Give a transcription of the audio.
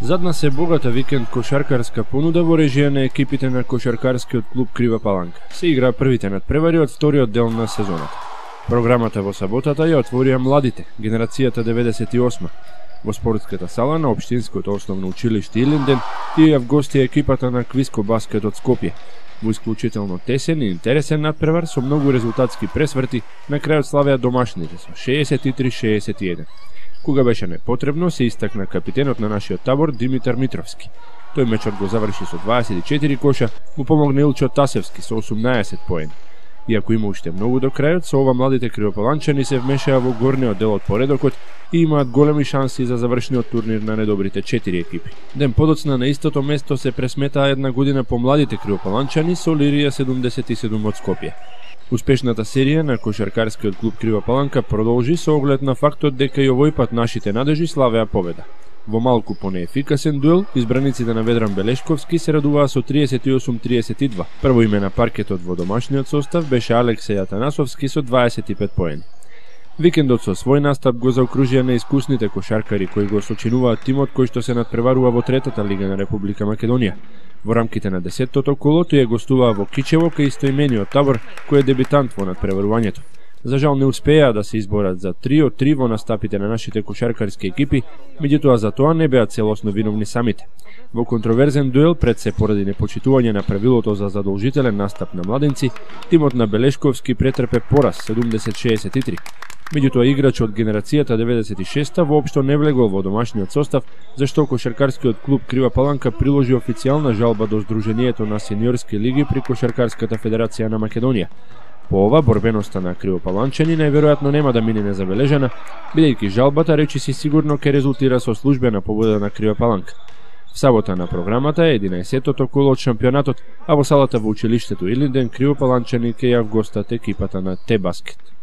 Зад нас е богата викенд кошаркарска понуда во режија на екипите на кошаркарскиот клуб Крива Паланка. Се играа првите надпревари од вториот дел на сезоната. Програмата во саботата ја отворија младите, генерацијата 98. Во спортската сала на Општинското основно училиште Илинден тие в гости екипата на Квиско баскет од Скопје. Во исклучително тесен и интересен надпревар со многу резултатски пресврти, на крајот славеа домашните со 63-61. Кога беше непотребно, се истакна капитенот на нашиот табор Димитар Митровски. Тој мечот го заврши со 24 коша, му помогна Илчо Тасевски со 18 поени. Иако има уште многу до крајот, со ова младите кривопаланчани се вмешаа во горниот дел од поредокот и имаат големи шанси за завршниот турнир на недобрите 4 екипи. Ден подоцна на истото место се пресметаа една година по младите кривопаланчани со Лирија 77 од Скопје. Успешната серија на кошаркарскиот клуб Крива Паланка продолжи со оглед на фактот дека и овој пат нашите надежи славеа победа. Во малку понеефикасен дуел, избраниците на Ведран Белешковски се радуваа со 38-32. Прво име на паркетот во домашниот состав беше Алексеј Атанасовски со 25 поени. Викендот со свој настап го заокружија неискусните кошаркари кои го сочинуваат тимот кој што се надпреварува во третата лига на Република Македонија. Во рамките на 10-тото коло тие гостуваа во Кичево кај истоимениот табор кој е дебитант во надпреварувањето. За жал не успеа да се изборат за 3 од 3 во настапите на нашите кошаркарски екипи, меѓутоа за тоа не беа целосно виновни самите. Во контроверзен дуел пред се поради непочитување на правилото за задолжителен настап на младенци, тимот на Белешковски претрпе пораз 70-63. Меѓутоа играч од генерацијата 96-та воопшто не влегол во домашниот состав, зашто кошаркарскиот клуб Крива Паланка приложи официјална жалба до Сдруженијето на сениорски лиги при Кошаркарската федерација на Македонија. По ова, борбеноста на кривопаланчани најверојатно нема да мине незабележана, бидејќи жалбата речиси сигурно ќе резултира со службена победа на Крива Паланка. В сабота на програмата е 11-тото коло од шампионатот, а во салата во училиштето Илинден кривопаланчани ќе ја вгостат екипата на Т-баскет.